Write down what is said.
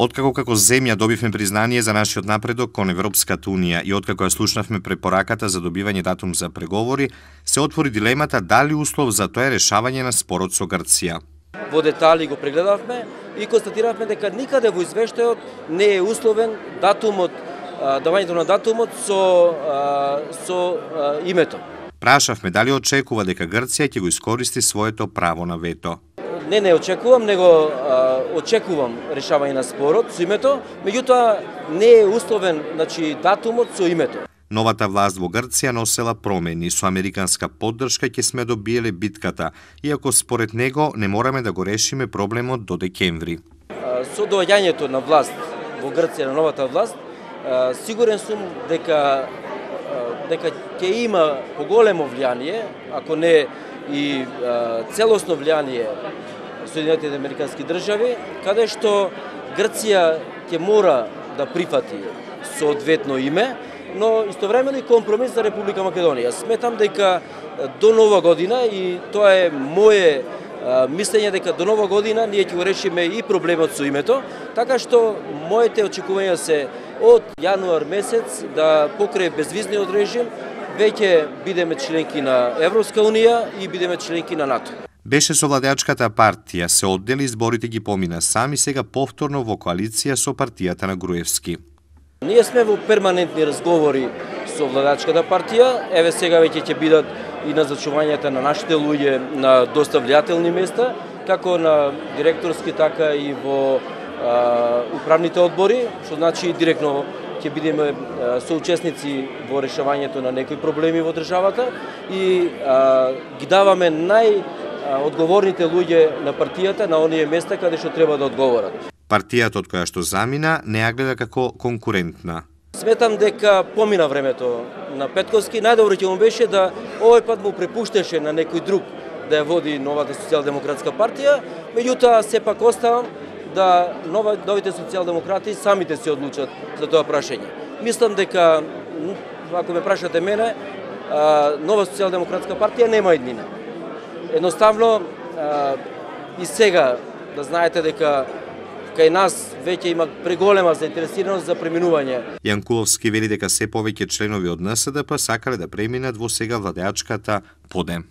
Откако како земја добивме признание за нашиот напредок кон Европската Унија и откако ја слушнавме препораката за добивање датум за преговори, се отвори дилемата дали услов за тоа е решавање на спорот со Грција. Во детали го прегледавме и констатиравме дека никаде во извештајот не е условен датумот, давањето на датумот со името. Прашавме дали очекува дека Грција ќе го искористи своето право на вето. Не очекувам, него очекувам решавање на спорот со името, меѓутоа не е условен, датумот со името. Новата власт во Грција носела промени, со американска поддршка ќе сме добиеле битката, иако според него не мораме да го решиме проблемот до декември. Со доаѓањето на власт во Грција, на новата власт, сигурен сум дека ќе има поголемо влијание, ако не и целосно влијание Соединетите американски држави, каде што Грција ќе мора да прифати соодветно име, но истовремено и компромис за Република Македонија. Сметам дека до нова година, и тоа е мое мислење, дека до нова година ние ќе го решиме и проблемот со името, така што моите очекувања се од јануар месец да покрај безвизниот режим веќе бидеме членки на Европска Унија и бидеме членки на НАТО. Беше со владеачката партија, се оддели, изборите ги помина сам и сега повторно во коалиција со партијата на Груевски. Ние сме во перманентни разговори со владеачката партија, еве сега веќе ќе бидат и назначувањата на нашите луѓе на доста влијателни места, како на директорски, така и во управните одбори, што значи директно ќе бидеме соучесници во решавањето на некои проблеми во државата и ги даваме најодговорните луѓе на партијата на оние места каде што треба да одговорат. Партијата од која што замина не ја гледа како конкурентна. Сметам дека помина времето на Петковски, најдобро ќе му беше да овој пат му препуштеше на некој друг да ја води новата социјалдемократска партија, меѓутоа сепак оставам да новите социјалдемократи самите се одлучат за тоа прашање. Мислам дека, ако ме прашате мене, нова социјалдемократска партија нема иднина. Едноставно, и сега да знаете дека кај нас веќе има преголема заинтересираност за преминување. Јанкуловски вели дека се повеќе членови од НСДП сакале да преминат во сега владеачката Подем.